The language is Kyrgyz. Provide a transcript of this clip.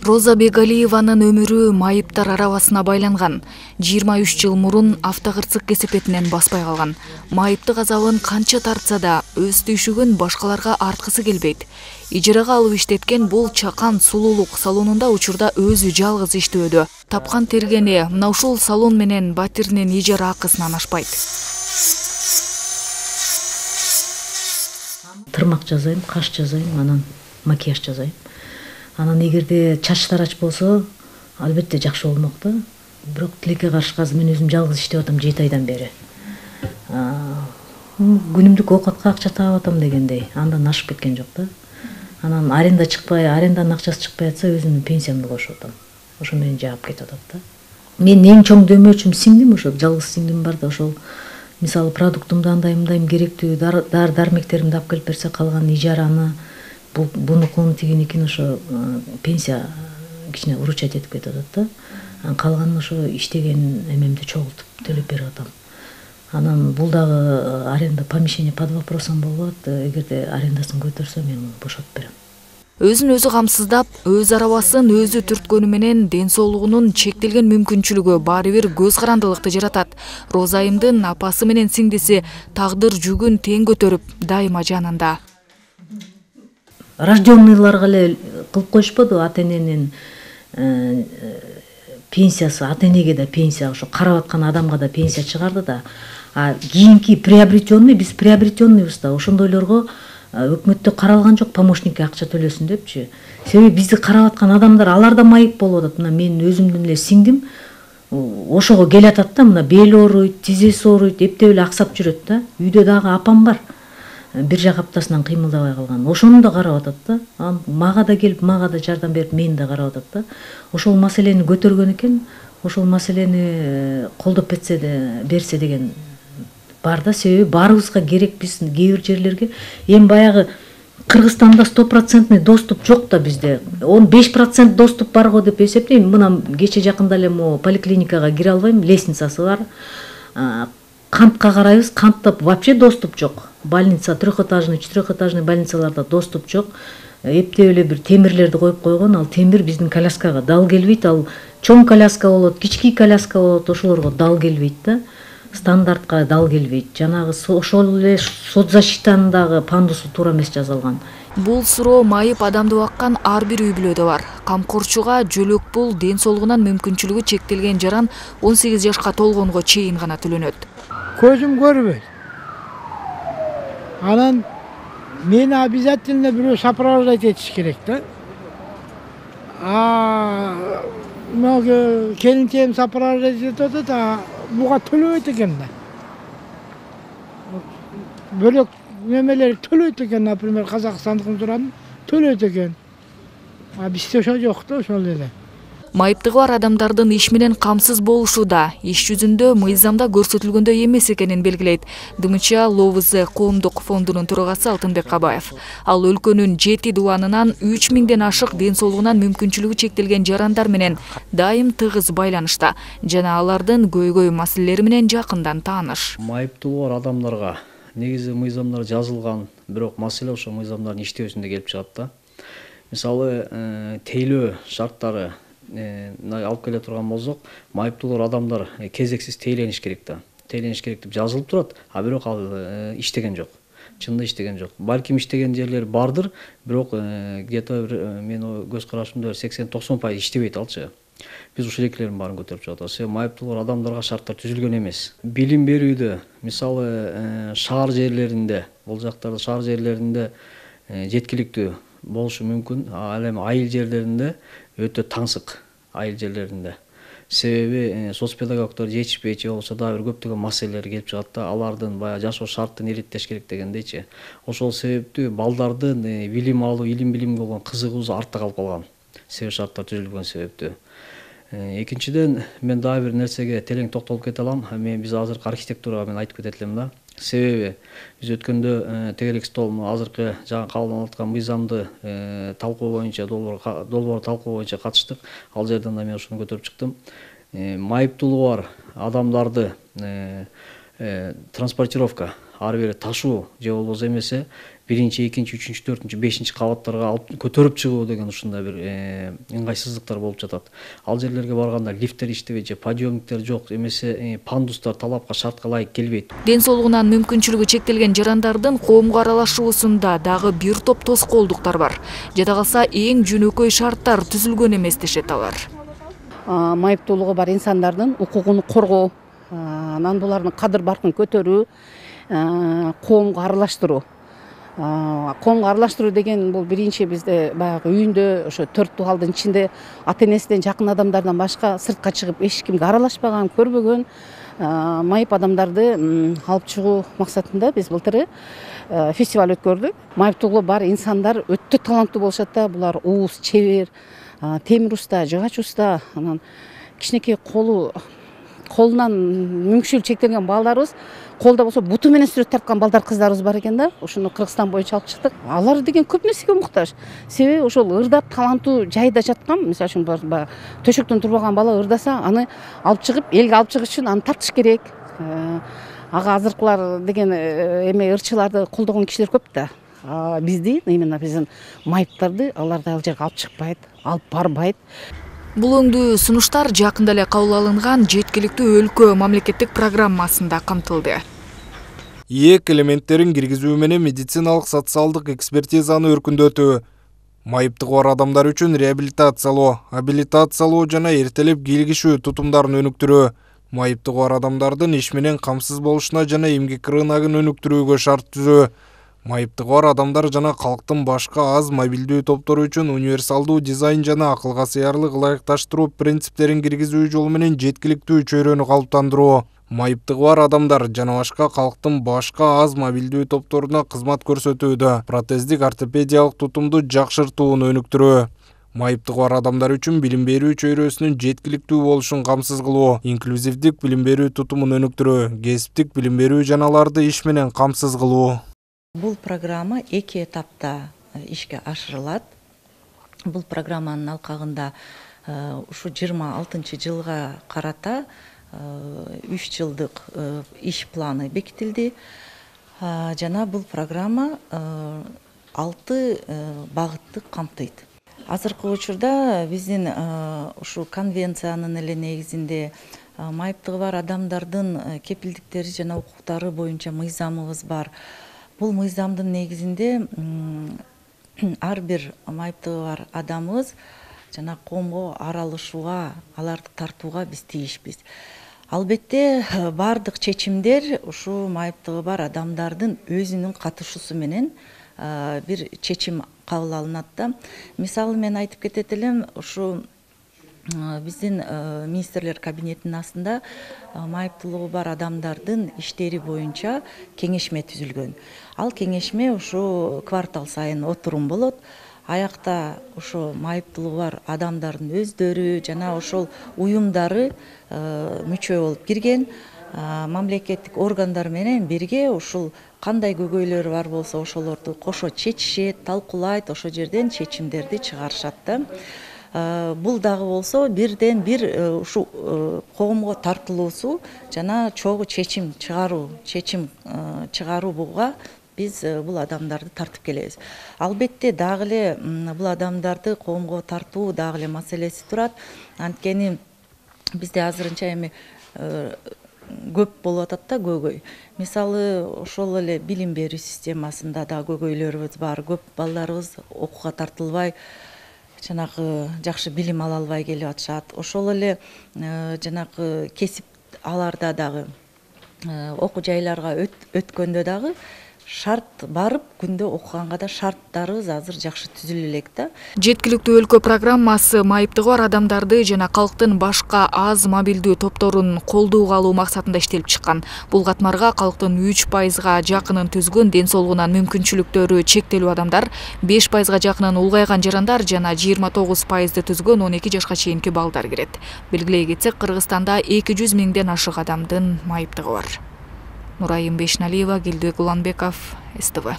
Роза Бегалиеванын өмүрү майыптар арабасына байланган. 23 жыл мурун автокырсык кесепетинен баспай калган. Майыптык азабын канча тартса да өз түйшүгүн башкаларга арткысы келбейт. Ижарага алып иштеткен бул чакан сулуулук салонунда учурда өзү жалгыз иштөөдө. Тапкан тергени мына ушул салон менен батиринин ижара акысынан ашпайт. Тырмак жасайм, каш жасайм, анан макияж жасайм. Анан эгерде чач тарач болсо, албетте жакшы болмок да. Бирок тилекке каршы азыр мен өзүм жалгыз иштеп атам 7 айдан бери. Күнүмдүк оокатка акча таап атам дегендей, андан ашып кеткен жок да. Анан аренда чыкпай, аренданын акчасы чыкпай атса, өзүмдүн пенсиямды кошуп атам. Ошо менен жаап кетип атат да. Мен эң чоң дөмөөчүм сиңдим, ошо жалгыз сиңдим бар да, ошол мисалы продуктумду андай керектүү дармектеримди алып келип берсе, калган ижараны бунукун тигиникин ошо пенсия кичине уручать этип кетип атат да. Калганын ошо иштеген эмемди чогултуп төлөп берип атам. Анан бул дагы аренда помещение под вопросом болуп атат. Эгерде арендасын көтөрсө мен бошотуп берем. Өзүн өзү камсыздап, өз арабасын өзү түрткөнү менен ден соолугунун чектелген мүмкүнчүлүгү баары бир көз карандылыкты жаратат. Розайымдын апасы менен сиңдиси тагдыр жүгүн тең көтөрүп, дайыма жанында. Рожденныйларга эле кылып коюшподу ата-эненин пенсиясы, ата-энеге да пенсия, ошо карап аткан адамга да пенсия чыгарды да. Кийинки приобретенный, биз приобретенныйбыз да. Ошондойлорго өкмөттө каралган жок, помощникке акча төлөсүн депчи. Себеби бизди карап аткан адамдар алар да майып болуп атат. Мына мен өзүмдүн эле сиңдим ошого келатат да, мына бели ооруйт, тизеси ооруйт, эптеп эле аксап жүрөт да. Үйдө дагы апам бар. Бир жак аптасынан кыймылдабай калган. Ошону да карап атат да. Мага да келип, мага да жардам берип, мени да карап атат да. Ошол маселени көтөргөн экен, ошол маселени колдоп берсе деген бар да. Себеби баарыбызга керек, биз кээ бир жерлерге эми баягы Кыргызстанда 100% доступ жок да бизде. 15% доступ барго деп эсептейм. Мына кече жакында эле могу поликлиникага кире албайм, лестницасы бар. Кантка карайбыз, кантта вообще доступ жок. Больница, трехэтажный, четырехэтажный больницаларда доступ жок. Эптеп эле бир темирлерди коюп койгон, ал темир биздин коляскага дал келбейт. Ал чоң коляска болот, кички коляска болот, ошолорго дал келбейт да. Стандартка дал келбейт. Жанагы ошол эле соцзащитанын дагы пандусу туура эмес жазылган. Бул суроо майып адамды баккан ар бир үй бүлөдө бар. Камкорчуга жөлөк пул ден соолугунан мүмкүнчүлүгү чектелген жаран 18 жашка толгонго чейин гана төлөнөт. Көзүм көрбөйт. Анан мени обязательно бирөө сопровождать этиш керек да. Келинчегим сопровождать этип атат, буга төлөбөйт экен да. Бөлөк немелер төлөйт экен, например, Казакстандыкын туран төлөйт экен. Бизде ошо жок да, ошол эле. Майыптыгы бар адамдардын иш менен камсыз болушу да иш жүзүндө мыйзамда көрсөтүлгөндөй эмес экенин белгилейт ДМЧ ЛОВЗ коомдук фондунун төрагасы Алтынбек Кабаев. Ал өлкөнүн 7 дубанынан 3000ден ашык ден соолугунан мүмкүнчүлүгү чектелген жарандар менен дайым тыгыз байланышта жана алардын көйгөй маселелери менен жакындан тааныш. Майыптуулугу бар адамдарга негизи мыйзамдар жазылган, бирок маселе ошо мыйзамдардын иштөөсүндө келип чыгат да. Мисалы, тейлөө шарттары алып келе турган болсок, майыптуулар адамдар кезексиз тейлениш керек да. Тейлениш керек деп жазылып турат, бирок ал иштеген жок. Чынында иштеген жок. Балким иштеген жерлер бардыр, бирок где-то мен көз карашымда 80-90% иштебейт алчы. Биз ушул экилердин баарын көтөрүп чыгабыз. Себеби майыптуулар адамдарга шарттар түзүлгөн эмес. Билим берүүдө, мисалы, шаар жерлеринде, бул жактарда шаар жерлеринде жеткиликтүү болушу мүмкүн. Ал эми айыл жерлеринде өтө таңсык, айыл жерлеринде. Себеби соцпедагогдор жетишпейт, же болбосо дагы бир көптөгөн маселелер келип чыгат да, алардын баягы жашоо шартын иреттеш керек дегендейчи. Ошол себептүү балдардын билим алуу, илим-билимге болгон кызыгуусу артта калып калган. Себеп шарттар түзүлгөн себептүү. Экинчиден, мен дагы бир нерсеге терең токтолуп кете алам. Биз азыркы архитектурага мен айтып кетет элем да. Себеби биз өткөндө тегерек стол азыркы жаңы кабылданып аткан мыйзамды талкуу боюнча, долбоор талкуу боюнча катыштык. Ал жерден да мен ушуну көтөрүп чыктым. Майыптуулугу бар адамдарды транспортировка ары бери ташуу же болбосо эмесе 1-2, 3, 4, 5 кабаттарга алып көтөрүп чыгуу деген ушундай бир ыңгайсыздыктар болуп жатат. Ал жерлерге барганда лифттер иштебейт же подъемниктер жок, эмесе пандустар талапка шартка ылайык келбейт. Ден соолугунан мүмкүнчүлүгү чектелген жарандардын коомго аралашуусунда дагы бир топ тоскоолдуктар бар. Жада калса эң жөнөкөй шарттар түзүлгөн эмес дешет алар. Майыптуулугу бар инсандардын укугун коргоо, анан булардын кадыр баркын көтөрүү, коомго аралаштыруу. Коомго аралаштыруу деген бул биринчи бизде баягы үйүндө ошо 4 дубалдын ичинде ата энесинен жакын адамдардан башка сыртка чыгып эч кимге аралашпаган, көрбөгөн майып адамдарды алып чыгуу максатында биз былтыр фестиваль өткөрдүк. Майыптуулугу бар инсандар өтө таланттуу болушат да, булар ууз, чебер, темир уста, жыгач уста, анан кичинекей колунан мүмкүнчүлүгү чектелген балдарыбыз, колдо болсо буту менен сүрөт тарткан балдар, кыздарыбыз бар экен да. Ошону Кыргызстан боюнча алып чыктык. Алар деген көп нерсеге муктаж. Себеби ошол ырдап таланттуу жайда жаткан, мисалы үчүн баягы төшөктөн турбаган бала ырдаса, аны алып чыгып, элге алып чыгыш үчүн аны тартыш керек. Ага азыркылар деген ырчыларды колдогон кишилер көп да. Бизди, именно биздин майыптарды алар ал жерге алып чыкпайт, алып барбайт. Бул өңдүү сунуштар жакында эле кабыл алынган жеткиликтүү өлкө мамлекеттик программасында камтылды. ИЭК элементтерин киргизүү менен медициналык социалдык экспертизаны өркүндөтүү, майыптыгы бар адамдар үчүн реабилитациялоо, абилитациялоо жана эртелеп кийлигишүү тутумдарын өнүктүрүү, майыптыгы бар адамдардын иш менен камсыз болушуна жана эмгек рыногун өнүктүрүүгө шарт түзүү, майыптыгы бар адамдар жана калктын башка аз мобилдүү топтору үчүн универсалдуу дизайн жана акылга сыярлык ылайыкташтыруу принциптерин киргизүү жолу менен жеткиликтүү чөйрөнү калыптандыруу, майыптыгы бар адамдар жана башка калктын башка аз мобилдүү топторуна кызмат көрсөтүүдө протездик ортопедиялык тутумду жакшыртууну өнүктүрүү, майыптыгы бар адамдар үчүн билим берүү чөйрөсүнүн жеткиликтүү болушун камсыз кылуу, инклюзивдик билим берүү тутумун өнүктүрүү, кесиптик билим берүү жаналарды иш менен камсыз кылуу. Бул программа 2 этапта ишке ашырылат. Бул программанын алкагында ушу 26-жылга карата 3 жылдык иш планы бекитилди. Жана бул программа 6 багытты камтыйт. Азыркы учурда биздин ушу конвенциянын эле негизинде майыптыгы бар адамдардын кепилдиктери жана укуктары боюнча мыйзамыбыз бар. Бул мыйзамдын негизинде ар бир майыптыгы бар адамыбыз жана коомго аралашууга, аларды тартууга биз тийишпиз. Албетте бардык чечимдер ушу майыптыгы бар адамдардын өзүнүн катышуусу менен бир чечим кабыл алынат да. Мисалы мен айтып кетет элем, ушу биздин министрлер кабинетинин астында майыптуулугу бар адамдардын иштери боюнча кеңешме түзүлгөн. Ал кеңешме ушу квартал сайын отурум болот. Аякта ошо майыптуулугу бар адамдардын өздөрү жана ошол уюмдары мүчө болуп кирген. Мамлекеттик органдар менен бирге ушул кандай көйгөйлөр бар болсо ошолорду кошо чечишет, талкуулайт, ошол жерден чечимдерди чыгарышат да. Бул дагы болсо бирден бир ушу коомго тартылуусу жана чогуу чечим чыгарууга биз бул адамдарды тартып келебиз. Албетте дагы эле бул адамдарды коомго тартуу дагы эле маселеси турат. Анткени бизде азырынча эми көп болуп атат да көйгөй. Мисалы ошол эле билим берүү системасында да көйгөйлөрүбүз бар. Көп балдарыбыз окууга тартылбай, жанагы жакшы билим ала албай келип атышат. Ошол эле жанагы кесип аларда дагы окуу жайларга өткөндө дагы шарт барып күндө окуганга да шарттарыбыз азыр жакшы түзүлө элек да. Жеткиликтүү өлкө программасы майыптыгы бар адамдарды жана калктын башка аз мобилдүү топторун колдоого алуу максатында иштелип чыккан. Бул катмарга калктын 3%га жакынын түзгөн ден соолугунан мүмкүнчүлүктөрү чектелүү адамдар, 5%га жакынын улгайган жарандар жана 29%ды түзгөн 12 жашка чейинки балдар кирет. Белгилей кетсек, Кыргызстанда 200 миңден ашык адамдын майыптыгы бар. Нурайым Бешналиева, Гилдибек Уланбеков, СТВ.